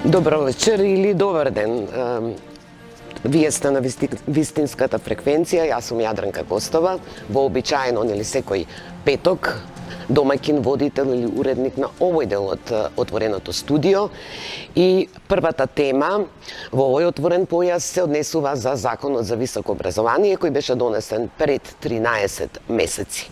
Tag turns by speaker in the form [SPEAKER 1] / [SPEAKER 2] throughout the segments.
[SPEAKER 1] Добро вечер или добар ден. Вие сте на вистинската фреквенција, јас сум Јадранка Костова, вообичаено нели секој петок домаќин, водител или уредник на овој дел од отвореното студио. И првата тема во овој отворен појас се однесува за Законот за високо образование, кој беше донесен пред 13 месеци.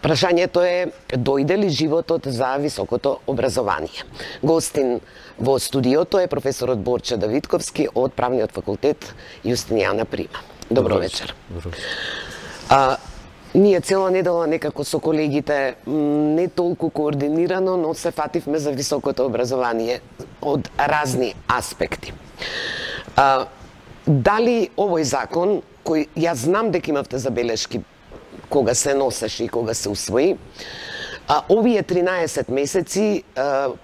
[SPEAKER 1] Прашањето е, дојде ли животот за високото образование? Гостин во студиото е професорот Борче Давидковски од Правниот факултет Јустинијана Прима. Добро вечер. Ние цела недела некако со колегите не толку координирано, но се фативме за високото образование од разни аспекти. Дали овој закон, кој јас знам дека имавте забелешки кога се носеше и кога се усвои, овие 13 месеци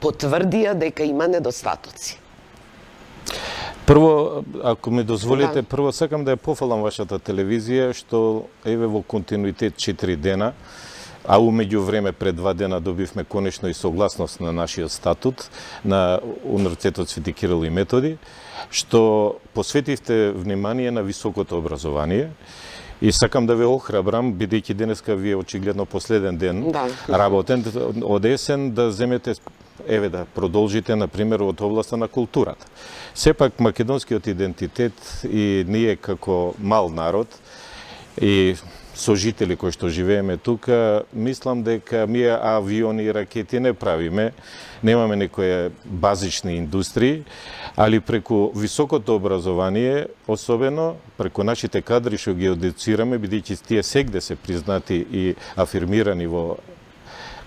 [SPEAKER 1] потврдија дека има недостатоци?
[SPEAKER 2] Прво, ако ми дозволите, прво сакам да ја пофалам вашата телевизија, што еве во континуитет 4 дена, а умеѓу време пред 2 дена добивме конечно и согласност на нашиот статут на Универзитетот Свети Кирил и Методи, што посветивте внимание на високото образование. И сакам да ве охрабрам, бидејќи денеска ви е очигледно последен ден работен од есен, да земете, еве да продолжите, например, од областа на културата. Сепак македонскиот идентитет и ние како мал народ и сожители кои што живееме тука, мислам дека ние авиони и ракети не правиме, немаме некои базични индустрии, али преку високото образование, особено преку нашите кадри што ги едуцираме, бидејќи тие сегде се признати и афирмирани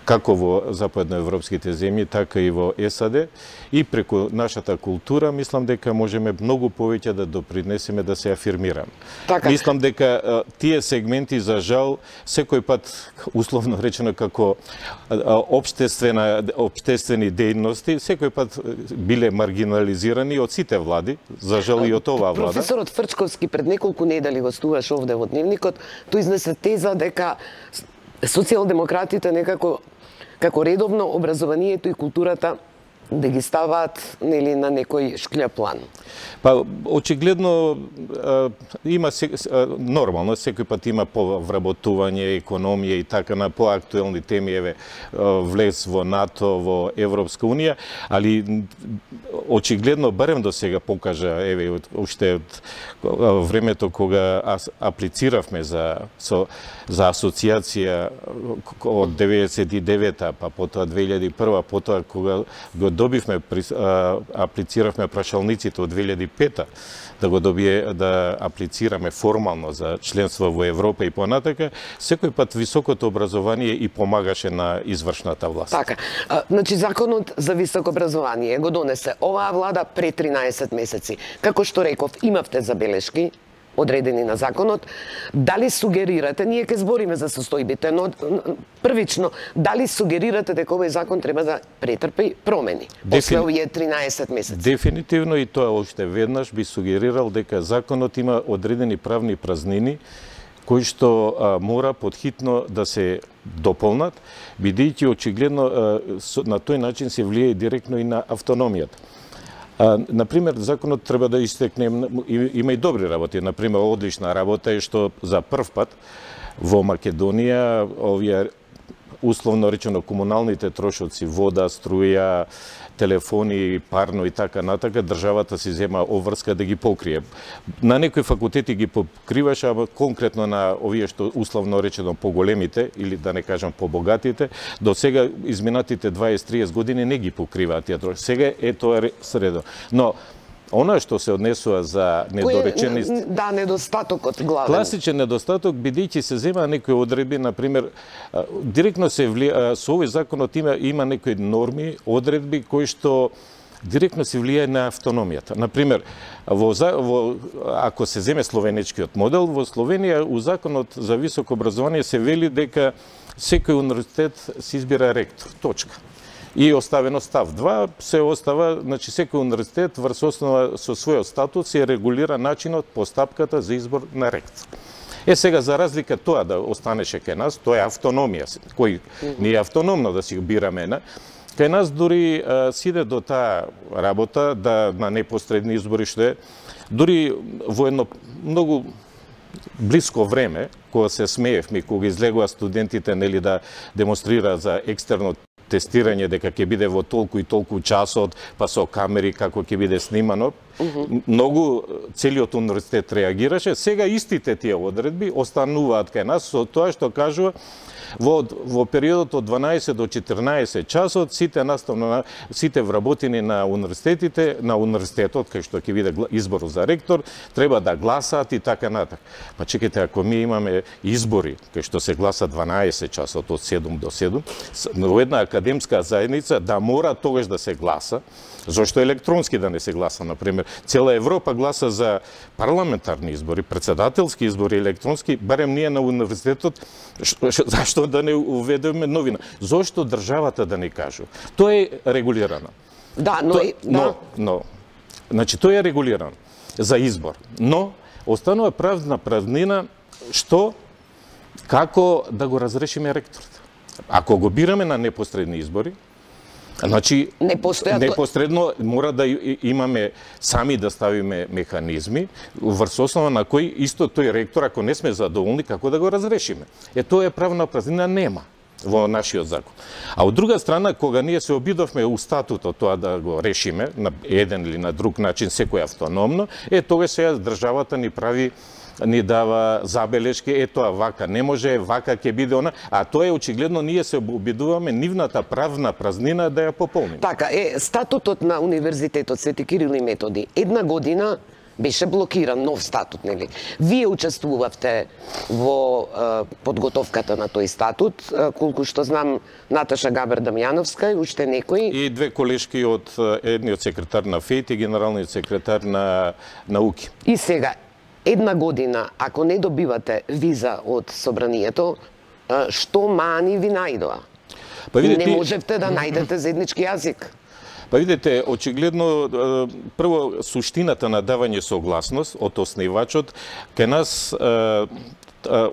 [SPEAKER 2] како во западноевропските земји, така и во САД, и преку нашата култура, мислам дека можеме многу повеќе да допринесеме да се афирмираме. Така. Мислам дека тие сегменти, за жал, секој пат, условно речено, како општествени дејности, секој пат биле маргинализирани од сите влади, за жал и од оваа влада.
[SPEAKER 1] Професорот Фрчковски пред неколку недели гостуваш овде во Дневникот, тој изнесе теза дека социјалдемократите некако како редовно образованието и културата да ги ставаат нели на некој шклја план.
[SPEAKER 2] Па очигледно има нормално, секој пат има повработување, економија и така на поактуелни теми, еве влез во НАТО, во Европска унија, али очигледно барем до сега покажа, еве уште од времето кога аплициравме за асоциација од 99-та, па потоа 2001-та, потоа кога го добивме, аплициравме прашалниците од 2005-та, да аплицираме формално за членство во Европа и понатака, секој пат високото образование и помагаше на извршната власт.
[SPEAKER 1] Така, значи Законот за високо образование го донесе оваа влада пред 13 месеци. Како што реков, имавте забелешки одредени на законот. Дали сугерирате, ние ќе збориме за состојбите, но првично, дали сугерирате дека овој закон треба да претрпи промени после овие 13 месеци?
[SPEAKER 2] Дефинитивно, и тоа уште веднаш би сугерирал дека законот има одредени правни празнини кои што мора подхитно да се дополнат, бидејќи очигледно на тој начин се влијае директно и на автономијата. Например, законот треба да истекне, има и добри работи. Например, одлична работа е што за прв пат во Македонија овие условно речено комуналните трошоци, вода, струја, телефони, парно и така натака, државата си зема обврска да ги покрие. На некои факултети ги покриваше, ама конкретно на овие што условно речено поголемите, или да не кажам побогатите, до сега изминатите 20-30 години не ги покриваат тие трошоци. Сега е тоа средно. Но она што се однесува за недореченост...
[SPEAKER 1] Да, недостатокот главен.
[SPEAKER 2] Класичен недостаток, бидејќи се зема некои одредби, например, директно се влија, со овој законот има некои норми, одредби кои што директно се влијае на автономијата. Например, ако се земе словенечкиот модел, во Словенија у законот за високо образование се вели дека секој универзитет се избира ректор. Точка. И оставено став 2 се остава, значи секој универзитет врз основа со својот статут се регулира начинот, постапката за избор на ректор. Сега за разлика тоа да останеше кај нас, тоа е автономија, кој не е автономно да си бираме, Кај нас дури сиде до таа работа да на непосредни избори што е, дури во едно многу блиско време, кога се смеевме, кога излегува студентите нели да демонстрираат за екстерно тестирање дека ќе биде во толку и толку часот, па со камери како ќе биде снимано, многу целиот универзитет реагираше. Сега истите тие одредби остануваат кај нас со тоа што кажува во периодот од 12 до 14 часот сите вработени на универзитетите, на универзитетот кај што ќе биде избор за ректор, треба да гласаат и така натаму. Па чекайте, ако ми имаме избори кај што се гласа 12 часот од 7 до 7, во една академска заедница да мора тогаш да се гласа. Зошто електронски да не се гласа, например? Цела Европа гласа за парламентарни избори, председателски избори, електронски, барем ние на универзитетот, зашто да не уведеме новина? Зошто државата да не кажу? Тоа е регулирано.
[SPEAKER 1] Да,
[SPEAKER 2] значи, тоа е регулирано за избор. Но, останува правна празнина што, како да го разрешиме ректорот. Ако го бираме на непосредни избори, значи, непосредно мора да имаме сами да ставиме механизми врз основа на кој исто тој ректор, ако не сме задоволни, како да го разрешиме. Тоа е правна празнина, нема во нашиот закон. А од друга страна, кога ние се обидовме у статутот тоа да го решиме на еден или на друг начин, секој автономно, тогаш сега државата ни дава забелешки, тоа вака не може, вака ќе биде она, а тоа е очигледно ние се обидуваме нивната правна празнина да ја пополниме.
[SPEAKER 1] Така статутот на Универзитетот Свети Кирил и Методи една година беше блокиран, нов статут, нели? Вие учествувавте во подготовката на тој статут, колку што знам, Наташа Габер Дамјановска и уште некои.
[SPEAKER 2] И две колешки од едниот секретар на ФЕИТ и генералниот секретар на науки.
[SPEAKER 1] И сега, една година, ако не добивате виза од собранието, што мани ви најдоа? Не можевте да најдете заеднички јазик.
[SPEAKER 2] Па видите, очигледно, прво, суштината на давање согласност од основачот, кај нас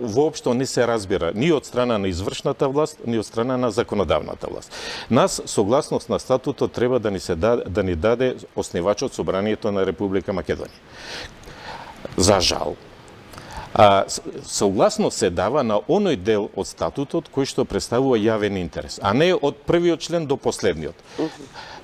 [SPEAKER 2] воопшто не се разбира ни од страна на извршната власт, ни од страна на законодавната власт. Нас согласност на статутот треба да ни даде основачот Собранието на Република Македонија. За жал, согласно се дава на оној дел од статутот кој што представува јавен интерес, а не од првиот член до последниот.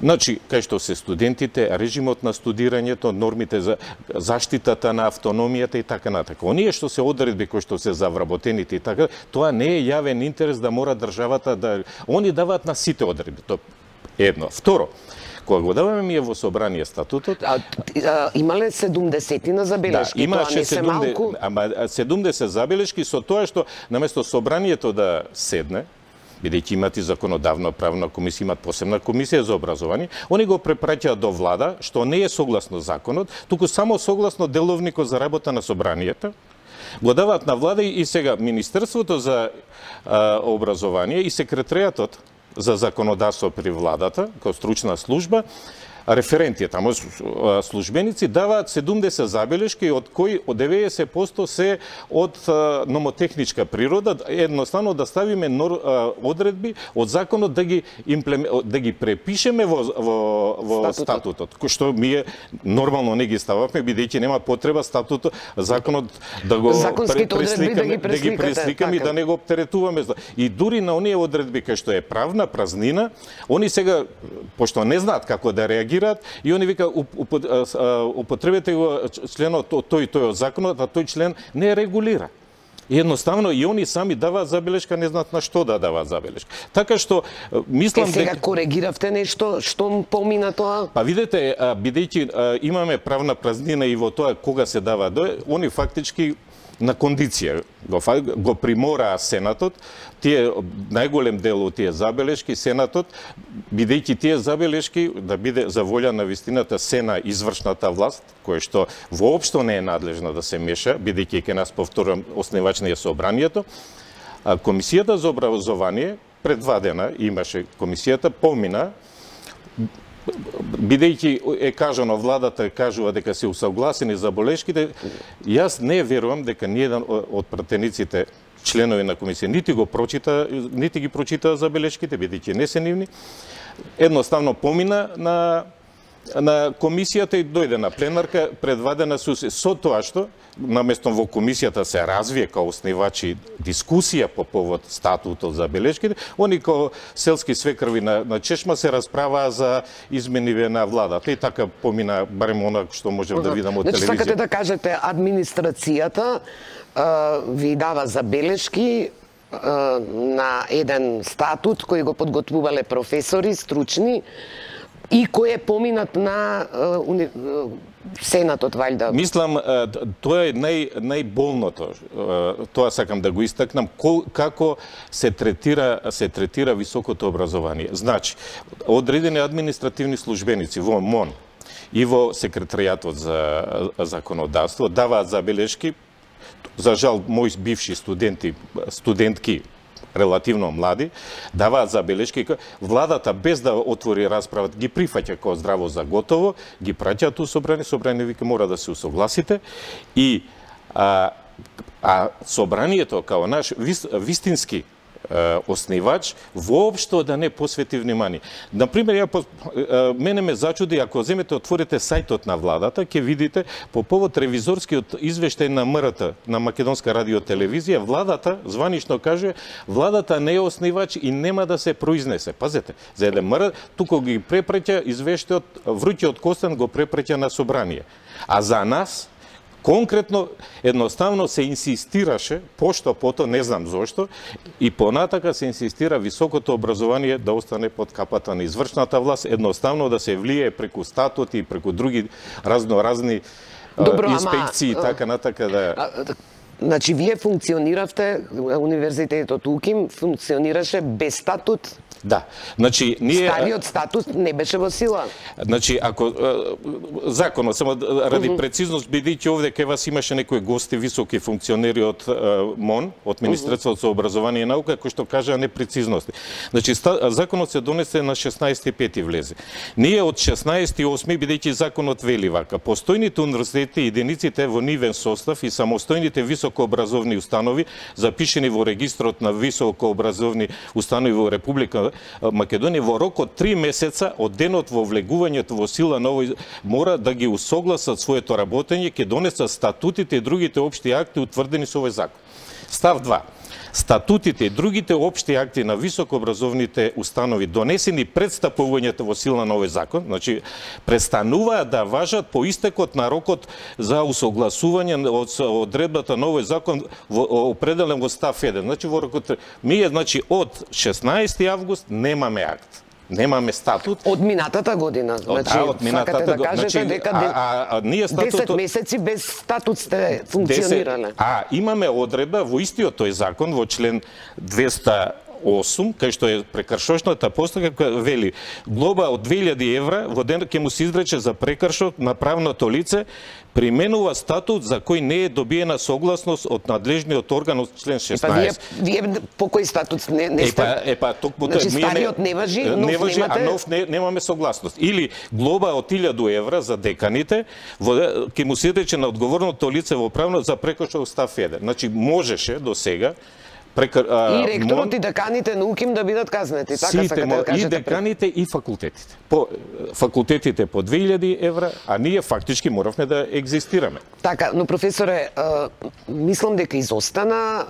[SPEAKER 2] Значи, кај што се студентите, режимот на студирањето, нормите за заштитата на автономијата и така натака. Оние што се одредби кои што се за вработените и така, тоа не е јавен интерес да мора државата да... Они даваат на сите одредби. Тоа едно. Второ, кога го даваме ние во собрание статутот...
[SPEAKER 1] Имале 70 забелешки,
[SPEAKER 2] да,
[SPEAKER 1] тоа не се малку?
[SPEAKER 2] Ама 70 забелешки со тоа што наместо собранието да седне, бидејќи имат и законодавна правна комисија, имат посебна комисија за образование, они го препраќаат до влада, што не е согласно законот, туку само согласно деловникот за работа на собранието, го даваат на влада и сега Министерството за образование и секретаријатот за законодавство при владата, како стручна служба, референти, тамо службеници, даваат 70 забелешки, од кои 90% се од номотехничка природа, едноставно да ставиме одредби од законот да ги препишеме во статутот, кој што ние нормално не ги стававме, бидејќи нема потреба статутот, законот да го пресликаме и да не го оптеретуваме. И дури на оние одредби кај што е правна празнина, они сега, пошто не знаат како да реагираат, и они вика употребете го членот тој од законот, а тој член не регулира. И едноставно и они сами даваат забелешка, не знаат на што да даваат забелешка. Така што мислам
[SPEAKER 1] сега коригиравте нешто, што помина тоа?
[SPEAKER 2] Па видете, бидејќи имаме правна празнина и во тоа кога се дава, они фактички на кондиција го примораа Сенатот, тие најголем дел од тие забелешки, Сенатот, бидејќи тие забелешки да биде за волја на вистината се на извршната власт, која што воопшто не е надлежна да се меша, бидејќи ке нас повторам основач на собранието, Комисијата за образование пред 2 дена имаше комисијата, помина, бидејќи е кажано, владата кажува дека се усогласени забелешките, јас не верувам дека ниеден од пратениците членови на комисија нити ги прочита забелешките, бидејќи не се нивни. Едноставно помина на комисијата и дојде на пленарка предвадена со тоа што наместо во комисијата се развие као основачи дискусија по повод статутот за белешките, они као селски свекрви на чешма се расправаа за измениве на владата и така помина барем она што можем да видам од телевизија.
[SPEAKER 1] Значи сакате да кажете администрацијата ви дава забелешки на еден статут кој го подготвувале професори стручни и кој е поминат на Сенатот, валјда.
[SPEAKER 2] Мислам, тоа е најболното. Тоа сакам да го истакнам, како се третира високото образование. Значи, одредени административни службеници во МОН и во секретаријатот за законодавство даваат забелешки. За жал, мои бивши студентки, релативно млади, даваат забелешки. Владата, без да отвори расправа, ги прифаќа како здраво за готово, ги праќаат у собрание, собрание вика мора да се усогласите и собранието као наш вистински основач воопшто да не посвети внимание. Например, мене ме зачуди ако земете отворите сајтот на владата, ќе видите по повод ревизорскиот извештај на МРТ, на Македонска радиотелевизија, владата званично каже владата не е основач и нема да се произнесе. Пазете, за еден МРТ туку ги препреќа извештајот, вручиот Костан го препреќа на собрание. А за нас конкретно, едноставно се инсистираше, пошто пото, не знам зошто, и понатака се инсистира високото образование да остане под капата на извршната власт, едноставно да се влие преку статути и преку други разноразни инспекции и така натака да...
[SPEAKER 1] Значи, вие функциониравте, универзитетот УКИМ функционираше без статут?
[SPEAKER 2] Да. Значи, ние...
[SPEAKER 1] Стариот статут не беше во сила?
[SPEAKER 2] Значи, ако... законот, само ради прецизност, бидејќи овде кај вас имаше некои гости, високи функционери од МОН, од Министерството за образование и наука, кои што кажаа непрецизности. Значи, законот се донесе на 16.5 влезе. Ние од 16.8, бидејќи законот вели вака, постојните универзитети и единиците во нивен состав и самостојните високообразовни установи, запишени во регистрот на високообразовни установи во Република Македонија, во рок од 3 месеца од денот во влегувањето во сила на овој мора да ги усогласат своето работење, ќе донесат статутите и другите општи акти утврдени со овој закон. Став 2. Статутите и другите општи акти на високообразовните установи донесени пред стапувањето во сила на овој закон, значи престануваат да важат по истекот на рокот за усогласување од одредбата на овој закон определен во став 1. Значи во рокот значи од 16 август немаме акт. Немаме статут.
[SPEAKER 1] Од минатата година. Значи,
[SPEAKER 2] од минатата
[SPEAKER 1] да кажете
[SPEAKER 2] значи,
[SPEAKER 1] дека
[SPEAKER 2] ние статутот
[SPEAKER 1] 10 месеци без статут сте функционирале.
[SPEAKER 2] Имаме одредба во истиот тој закон во член 208, кај што е прекршочната постапка, вели глоба од 2000 евра во ден ќе му се изрече за прекршок на правното лице, применува статут за кој не е добиена согласност од надлежниот орган од член 16.
[SPEAKER 1] Вие по кој статут не сте? Значи стариот не важи, нов немате?
[SPEAKER 2] А нов немаме согласност. Или глоба од 1000 евра за деканите, ќе му се изрече на одговорното лице во правно за прекршок став 1. Значи можеше до сега
[SPEAKER 1] и ректорот и деканите на УКИМ да бидат казнети, така сакате да кажете?
[SPEAKER 2] И деканите и факултетите. Факултетите по 2000 евра, а ние фактички моравме да екзистираме.
[SPEAKER 1] Така, но професоре, мислам дека изостана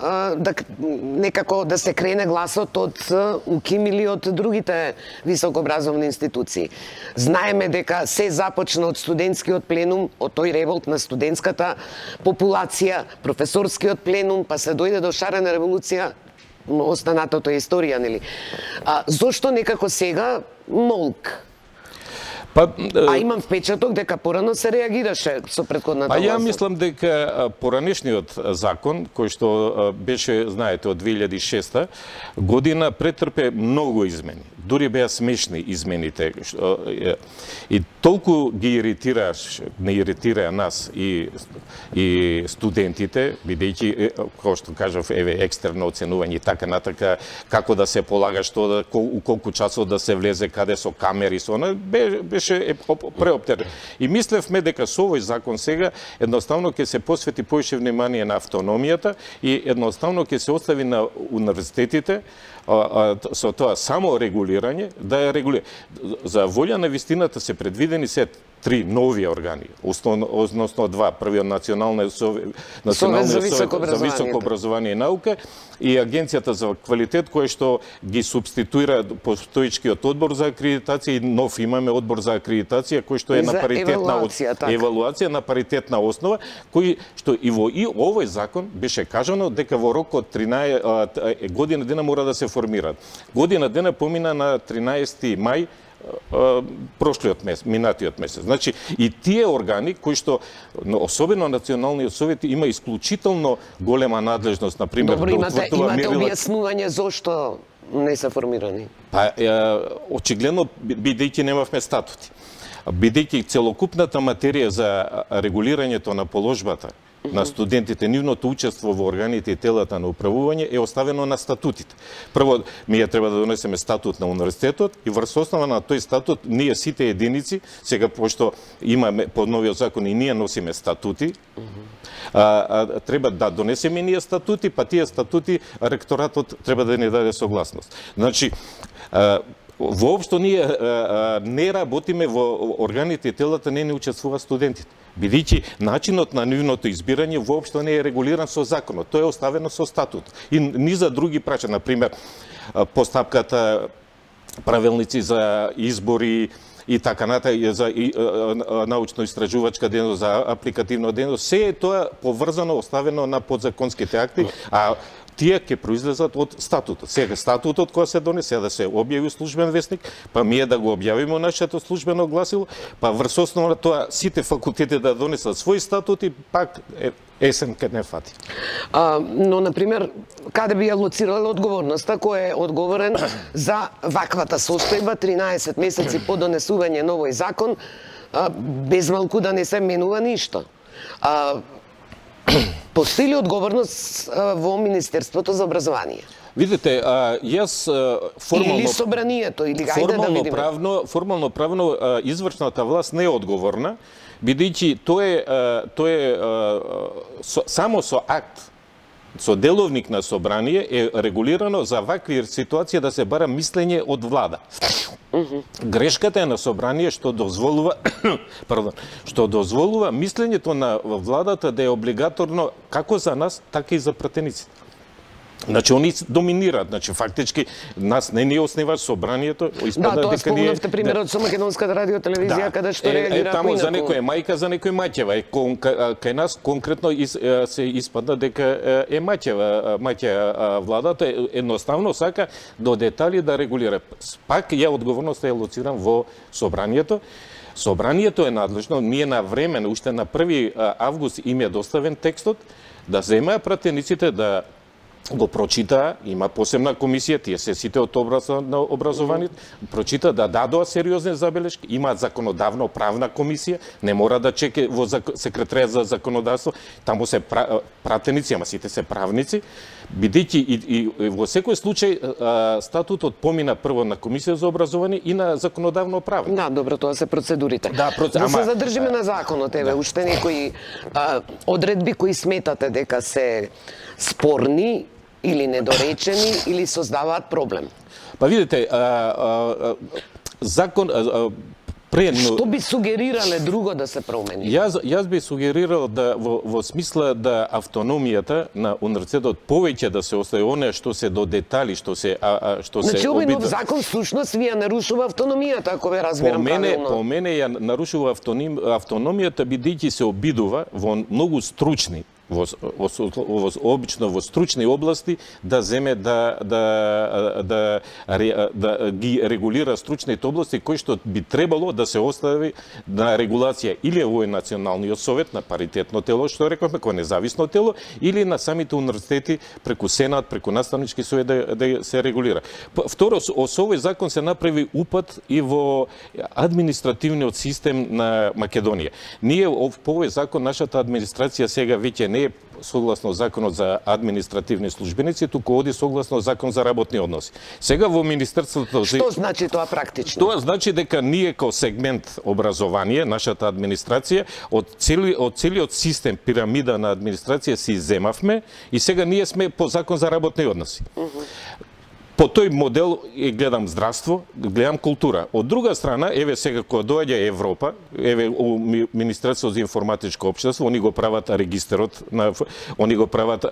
[SPEAKER 1] некако да се крене гласот од УКИМ или од другите високообразовни институции. Знаеме дека се започна од студентскиот пленум, од тој револт на студентската популација, професорскиот пленум, па се дојде до шарена револуција, останатото е историја, нели? Зошто некако сега молк? Имам впечаток дека порано се реагираше со претходната власт.
[SPEAKER 2] Ја мислам дека поранешниот закон, кој што беше, знаете, од 2006 година, претрпе многу измени. дури беа смешни измените, и толку ги не иритира нас и студентите, бидејќи, како што кажав, екстерно оценување и така натака, како да се полага, што у колку часот да се влезе, каде со камери, со она, беше преоптерен. И мислевме дека со овој закон сега едноставно ќе се посвети поише внимание на автономијата и едноставно ќе се остави на универзитетите со тоа само регулирање, да ја регулира. За волја на вистината се предвидени се 3 нови органи, односно 2. Првиот Националниот совет за високо образование и наука и Агенцијата за квалитет, кој што ги субституира постоечкиот одбор за акредитација, и нов имаме одбор за акредитација, кој што е на паритетна евалуација на паритетна основа, кој што и во овој закон беше кажано дека во рок од 13 година дена мора да се формираат. Година дена помина на 13 мај прошлиот месец, минатиот месец. Значи, и тие органи кои што, особено Националниот совет, има исклучително голема надлежност, например,
[SPEAKER 1] добро, имате објаснување зошто не се формирани?
[SPEAKER 2] Па, очигледно, бидејќи немавме статути. Бидејќи целокупната материја за регулирањето на положбата на студентите, нивното учество во органите и телата на управување е оставено на статутите. Прво, ние треба да донесеме статут на универзитетот и врз основа на тој статут ние сите единици, сега пошто имаме по новиот закон и ние носиме статути, треба да донесеме ние статути, па тие статути ректоратот треба да ни даде согласност. Значи, воопшто ние не работиме во органите и телата, не учествува студентите. Бидејќи начинот на нивното избирање воопшто не е регулиран со законот, тоа е оставено со статут. И ни за други прача, например, постапката, правилници за избори и така натаму, за научно-истражувачка дејност, за апликативна дејност, се е тоа поврзано, оставено на подзаконските акти, а тие ќе произлезат од статутот. Сега статутот кој се донесе да се објави службен весник, па ние да го објавиме нашето службено гласило, па врз основа на тоа сите факултети да донесат свој статут и пак есен ке не фати.
[SPEAKER 1] Но, например, каде би ја лоцирала одговорноста, кој е одговорен за ваквата состојба 13 месеци по донесување на овој закон, без малку да не се менува ништо? Постои ли одговорност во Министерството за образование?
[SPEAKER 2] Видите, јас формално...
[SPEAKER 1] Или собранието, или ајде да видиме.
[SPEAKER 2] Формално правно извршната власт не е одговорна, бидејќи тоа е само со акт, со деловник на собрание е регулирано за вакви ситуации да се бара мислење од влада. Грешката е на собрание што дозволува мислењето на владата да е облигаторно како за нас, така и за пратениците. Значи, они доминираат. Значи, фактички, нас не ни основа собранието.
[SPEAKER 1] Да, тоа спомнавте примерот со Македонската радиотелевизија, каде што реагира
[SPEAKER 2] таму за некој мајка, за некој маќева. Кај нас конкретно се испадна дека е маќева владата, едноставно сака до детали да регулира. Пак ја одговорноста е лоцирам во собранието. Собранието е надлежно, ние на време, уште на 1 август им е доставен текстот, да земеа пратениците да го прочитаа, има посебна комисија, тие се сите од на образованието, прочита да дадоа сериозни забелешки, имаат законодавно-правна комисија, не мора да чеке во секретаријат за законодавство, таму се пратеници, ама сите се правници, бидејќи и во секој случај статутот помина прво на комисија за образование и на законодавно-правна.
[SPEAKER 1] Да, добро, тоа се процедурите. Да се задржиме на законот, уште некои одредби кои сметате дека се спорни или недоречени, или создаваат проблем?
[SPEAKER 2] Па видите, закон...
[SPEAKER 1] Што би сугерирале друго да се промени?
[SPEAKER 2] Јас би сугерирал да во смисла да автономијата на универзитетот повеќе да се остави оние што се до детали, што се
[SPEAKER 1] Значи, овој нов закон всушност ви ја нарушува автономијата, ако ве разбирам правилно.
[SPEAKER 2] По мене ја нарушува автономијата, бидејќи се обидува во многу стручни обично во стручни области да земе да ги регулира стручните области кои што би требало да се остави на регулација или овој националниот совет на паритетно тело што рековме кој независно тело или на самите универзитети преку сенат, преку наставнички совет да се регулира. Второ, со овој закон се направи упат и во административниот систем на Македонија. Ние по овој закон нашата администрација сега веќе не е согласно законот за административни службеници, туку оди согласно закон за работни односи. Сега во Министерството...
[SPEAKER 1] Што значи тоа практично?
[SPEAKER 2] Тоа значи дека ние како сегмент образование, нашата администрација, од целиот систем, пирамида на администрација си иземавме и сега ние сме по закон за работни односи. По тој модел гледам здравство, гледам култура. Од друга страна, еве сега кога доаѓа Европа, еве у Министерството за информатичко општество, они го прават регистерот, они го прават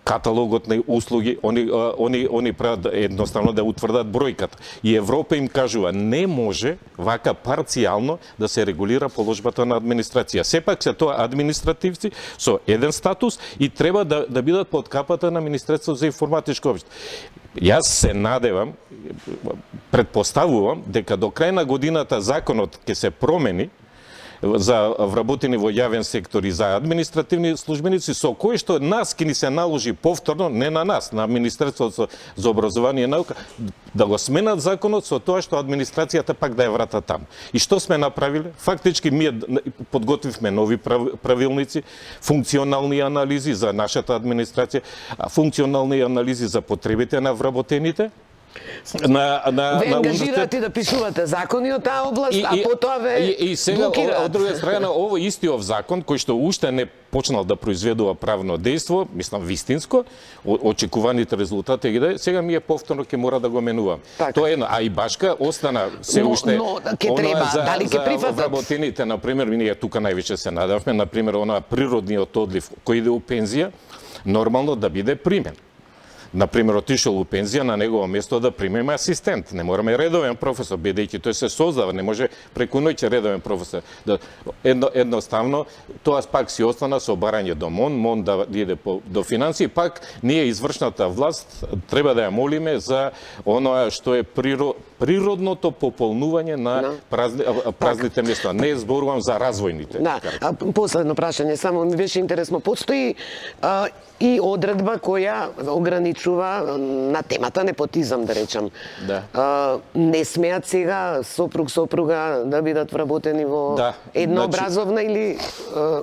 [SPEAKER 2] каталогот на услуги, они прават едноставно да утврдат бројката. И Европа им кажува, не може вака парцијално да се регулира положбата на администрација. Сепак се тоа административци со еден статус и треба да бидат под капата на Министерството за информатичко општество. Јас се надевам, предпоставувам дека до крај на годината законот ќе се промени за вработени во јавен сектор и за административни службеници, со кои што нас ќе ни се наложи повторно, не на нас, на Министерството за образование и наука, да го сменат законот со тоа што администрацијата пак да ја врата таму. И што сме направиле? Фактички ние подготвивме нови правилници, функционални анализи за нашата администрација, функционални анализи за потребите на вработените.
[SPEAKER 1] Ве ангажирате да пишувате закони од таа област, а потоа ве
[SPEAKER 2] и сега од друга страна овој истиот закон кој што уште не почнал да произведува правно дејство, мислам вистинско, очекуваните резултати ги даде, сега ние повторно ќе мора да го менуваме. Тоа е едно, а и башка остана се уште
[SPEAKER 1] ќе треба дали ќе прифатат
[SPEAKER 2] вработените, на пример, ние тука највише се надевме, на пример, она природниот одлив кој иде у пензија, нормално да биде примен. Например, отишол у пензија, на негово место да примеме асистент. Не мораме редовен професор, бидејќи тој се создава, не може преку ноќ редовен професор. Едноставно, тоа пак си остана со барање до МОН да иде до финансии, пак ние извршната власт треба да ја молиме за оноа што е природното пополнување на празните места. Не зборувам за развојните.
[SPEAKER 1] Да, последно прашање, само ми беше интересно, постои и одредба која ограничува на темата непотизам, да речам.
[SPEAKER 2] Да.
[SPEAKER 1] Не смеат сега сопруга да бидат вработени во една образовна или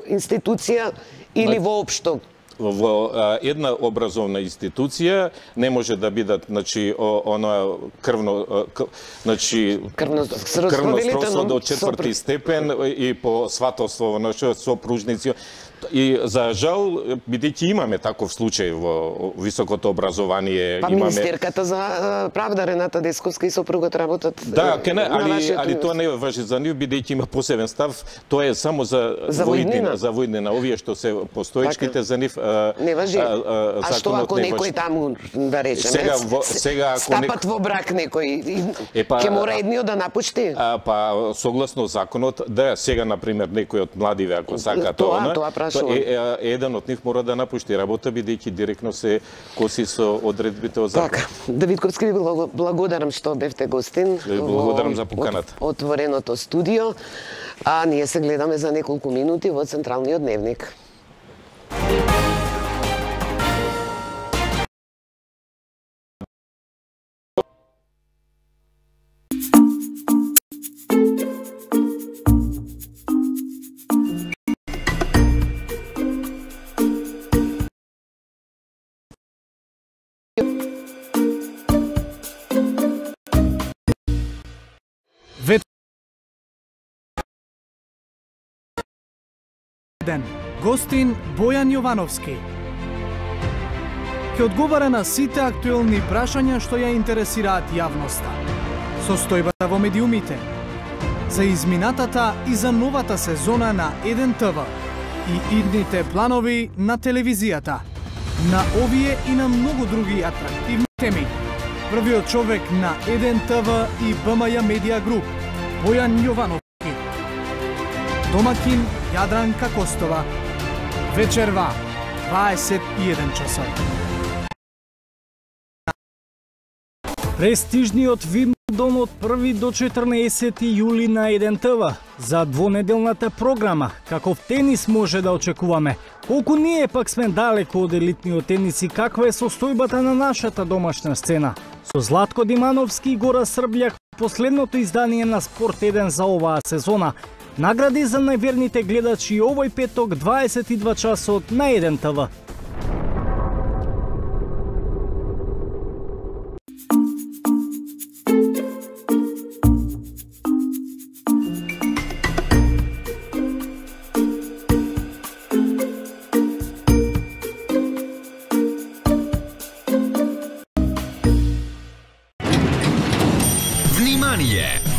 [SPEAKER 1] институција или воопшто?
[SPEAKER 2] Во една образовна институција не може да бидат, она крвно сродство до 4-ти степен и по сватовство во сопружници. И за жал, бидејќи имаме таков случај во високото образование,
[SPEAKER 1] имаме министерката за правда Рената Десковска и сопругот работат.
[SPEAKER 2] Да, али тоа не важи за нив, бидејќи има посебен став, тоа е само за војнина, овие што се постоечките за нив.
[SPEAKER 1] Не важи. А што ако некој таму, да речеме, стапат во брак некој, ќе мора едниот да напушти?
[SPEAKER 2] Па согласно законот, да, сега на пример некој од младиве ако сака тоа еден од нив мора да напушти работа, бидејќи директно се коси со одредбите од закон.
[SPEAKER 1] Така, Давидковски, ви благодарам што бевте гостин.
[SPEAKER 2] Благодарам за поканата.
[SPEAKER 1] Отвореното студио, а ние се гледаме за неколку минути во Централниот дневник.
[SPEAKER 3] Гостин Бојан Јовановски ќе одговара на сите актуелни прашања што ја интересираат јавноста. Состојбата во медиумите, за изминатата и за новата сезона на 1 ТВ и идните планови на телевизијата. На овие и на многу други атрактивни теми. Првиот човек на 1 ТВ и БМЈ Медија Груп, Бојан Јовановски. Домакин Јадранка Костова. вечерва 21 часот. Престижниот Вимблдон од 1 до 14 јули на 1 ТВ. За двонеделната програма, каков тенис може да очекуваме? Колку ние пак сме далеко од елитниот тенис и каква е состојбата на нашата домашна сцена? Со Златко Димановски и Гора Србљак, последното издание на Спорт 1 за оваа сезона. Награди за најверните гледачи овој петок 22 часот на 1 ТВ.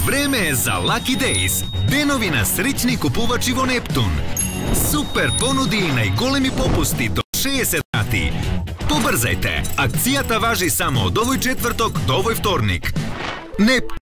[SPEAKER 4] Време е за Lucky Days, денови на среќни купувачи во Нептун. Супер понуди и најголеми попусти до 60 рати. Побрзајте, акцијата важи само од овој четврток до овој вторник. Нептун.